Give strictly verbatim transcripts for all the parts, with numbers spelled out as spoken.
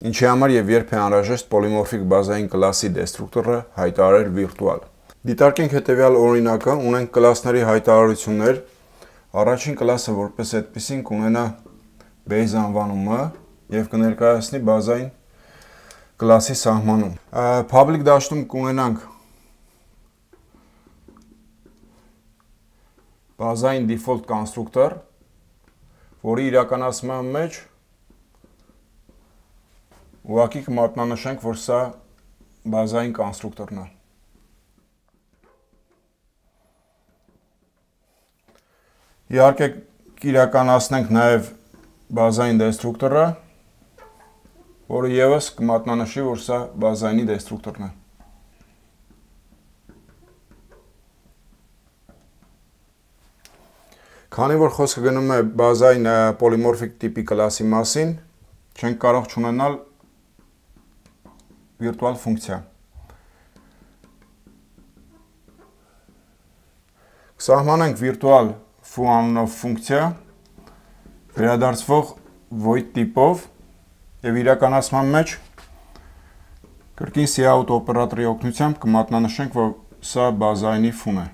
Ինչի համար եւ երբ է անհրաժեշտ պոլիմորֆիկ բազային կլասի դեստրուկտորը հայտարարել վիրտուալ։ Դիտարկենք հետեւյալ օրինակը, ունենք կլասների հայտարարություններ։ Առաջին կլասը որպես այդպեսին կունենա base անվանումը եւ կներկայացնի բազային կլասի սահմանում։ Public դաշտում կունենանք բազային default կոնստրուկտոր, որի իրականացման մեջ ուղղակի կմատնանշենք, որ սա բազային կոնստրուկտորն է։ Իհարկե կիրականացնենք նաև բազային դեստրուկտորը, որը ևս կմատնանշի, որ սա բազայինի դեստրուկտորն է։ Քանի որ խոսքը գնում է բազային պոլիմորֆիկ տիպի կլասի մասին, չենք կարող չունենալ վիրտուալ ֆունկցիա։ Կսահմանենք վիրտուալ foo անունով ֆունկցիա, վերադարձվող void տիպով եւ իրականացման մեջ կրկին cout օպերատորի օգնությամբ կմատնանշենք, որ սա բազայինի foo-ն է։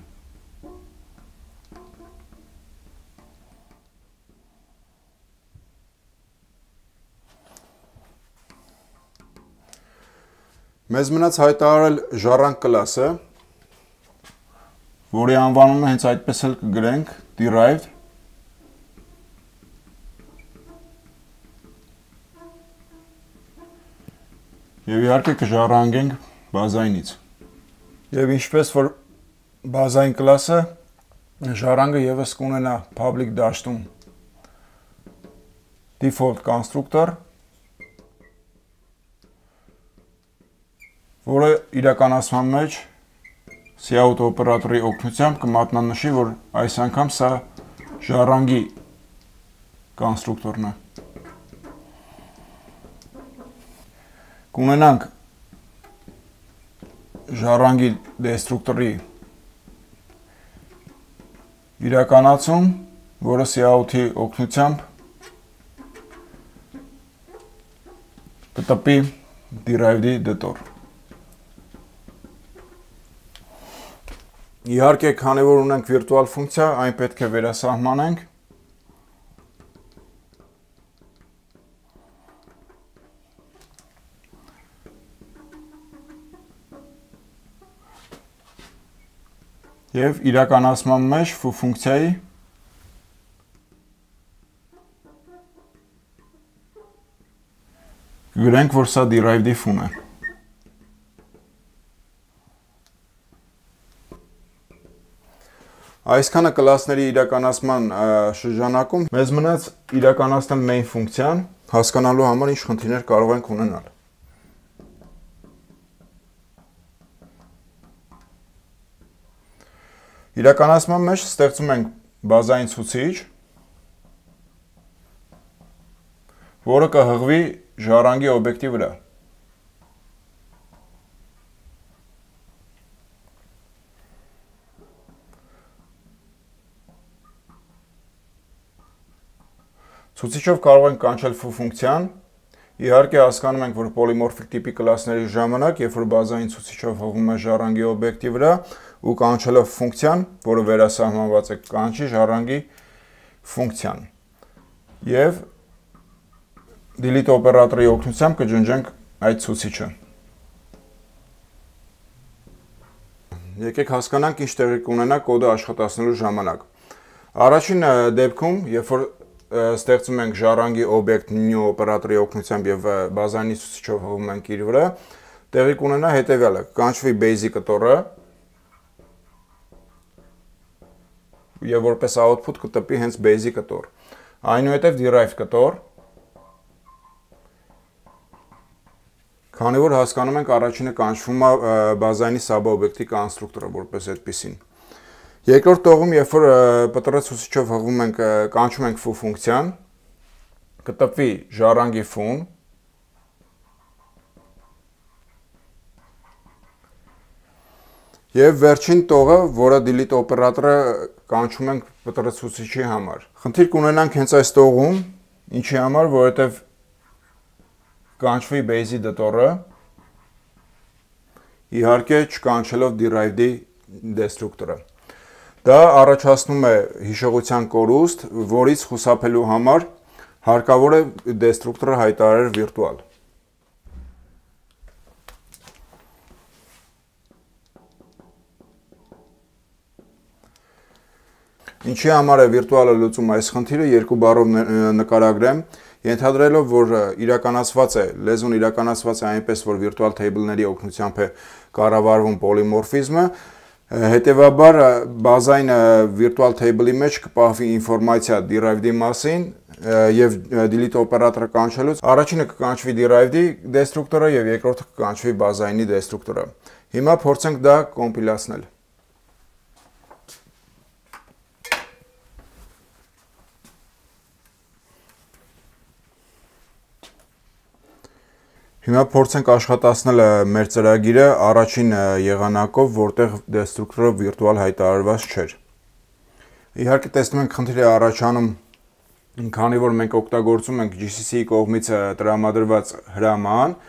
Մեզ մնաց հայտարարել ժառանգ կլասը, որի անվանումը հենց այդպես էլ կգրենք derived եւ իհարկե կժառանգենք բազայինից։ Եվ ինչպես որ բազային կլասը ժառանգը եւս կունենա public դաշտում default կոնստրուկտոր, որը իրականացման մեջ cout օպերատորի օգնությամբ կմատնանշի, որ այս անգամ սա ժառանգի կոնստրուկտորն է։ Կունենանք ժառանգի դեստրուկտորի իրականացում, որը cout-ի օգնությամբ կտպի derived-ի դտոր։ Իհարկե, քանի որ ունենք վիրտուալ ֆունկցիա, այն պետք է վերասահմանենք։ Եվ իրականացման մեջ foo ֆունկցիայի կգրենք, որ սա derived-ի foo-ն է։ Այսքանը կլասների իրականացման շրջանակում մեզ մնաց իրականացնել main ֆունկցիան, հասկանալու համար ինչ խնդիրներ կարող ենք ունենալ։ Իրականացման մեջ ստեղծում ենք բազային ցուցիչ, որը կհղվի ժառանգի օբյեկտի վրա։ Ցուցիչով կարող ենք կանչել foo ֆունկցիան, իհարկե հասկանում ենք, որ պոլիմորֆիկ տիպի կլասների ժամանակ, երբ որ բազային ցուցիչով հղվում է ժառանգի օբյեկտի վրա ու կանչելով ֆունկցիան, որը վերասահմանված է, կանչի ժառանգի ֆունկցիան։ Եվ delete օպերատորի օգնությամբ կջնջենք այդ ցուցիչը։ Եկեք հասկանանք ինչ տեղի կունենա կոդը աշխատացնելու ժամանակ։ Առաջին դեպքում, երբ որ ստեղծում ենք ժառանգի օբյեկտ new օպերատորի օգնությամբ եւ բազայինի ցուցիչով հղում ենք իր վրա, տեղի կունենա հետեւյալը. կանչվի base կտորը եւ որպես output կտպի հենց base կտոր։ Այնուհետեւ derived կտոր, քանի որ հասկանում ենք առաջինը կանչվում է բազայինի sub-օբյեկտի կոնստրուկտորը որպես այդպեսին։ Երկրորդ տողում, երբ որ պտռ ցուցիչով հղվում ենք, կանչում ենք foo ֆունկցիան, կտպվի ժառանգի foo-ն, եւ վերջին տողը, որը delete օպերատորը կանչում ենք պտռ ցուցիչի համար։ Խնդիր կունենանք հենց այս տողում, ինչի համար, որովհետեւ կկանչվի base-ի դտորը, իհարկե չկանչելով derived-ի դեստրուկտորը։ Դա առաջացնում է հիշողության կորուստ, որից խուսափելու համար հարկավոր է դեստրուկտորը հայտարարել վիրտուալ։ Ինչի համար է վիրտուալը լուծում այս խնդիրը, երկու բառով նկարագրեմ, ենթադրելով, որ իրականացված է, լեզուն իրականացված է այնպես, որ վիրտուալ table-ների օգնությամբ է կառավարվում պոլիմորֆիզմը, հետևաբար բազային վիրտուալ table-ի մեջ կպահվի ինֆորմացիա derived-ի մասին եւ delete օպերատորը կանչելուց առաջինը կկանչվի derived-ի դեստրուկտորը եւ երկրորդը կկանչվի բազայինի դեստրուկտորը։ Հիմա փորձենք դա կոմպիլացնել։ Հիմա փորձենք աշխատացնել մեր ծրագիրը առաջին եղանակով, որտեղ դեստրուկտորը վիրտուալ հայտարարված չէր։ Իհարկե տեսնում ենք խնդիր է առաջանում, քանի որ մենք օգտագործում ենք G C C-ի կողմից տրամադրված հրաման,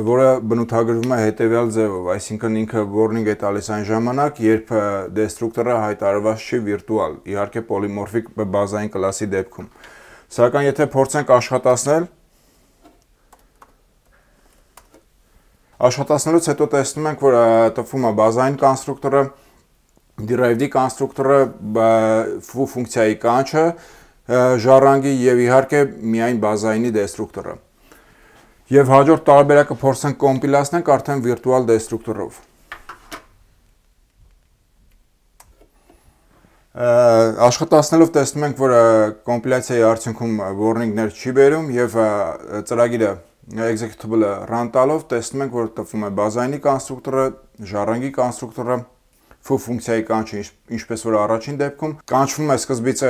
որը բնութագրվում է հետևյալ ձևով, այսինքն ինքը warning է տալիս այն ժամանակ, երբ դեստրուկտորը հայտարարված չի վիրտուալ, իհարկե պոլիմորֆիկ բազային կլասի դեպքում։ Սակայն եթե փորձենք աշխատացնել, Աշխատացնելուց հետո տեսնում ենք, որ տվում է բազային կոնստրուկտորը, derived-ի կոնստրուկտորը, foo ֆունկցիայի կանչը, ժառանգի եւ իհարկե միայն բազայինի դեստրուկտորը։ Եվ հաջորդ տարբերակը փորձենք կոմպիլացնենք արդեն վիրտուալ դեստրուկտորով։ Աշխատացնելով տեսնում ենք, որ կոմպիլյացիայի արդյունքում warning-ներ չի բերում եւ ծրագիրը executable-ը run տալով տեսնում ենք, որ տվում է բազայինի կոնստրուկտորը, ժառանգի կոնստրուկտորը, foo ֆունկցիայի կանչը, ինչպես որ առաջին դեպքում, կանչվում է սկզբից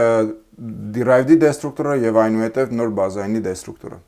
derived-ի դեստրուկտորը եւ այնուհետեւ նոր բազայինի դեստրուկտորը։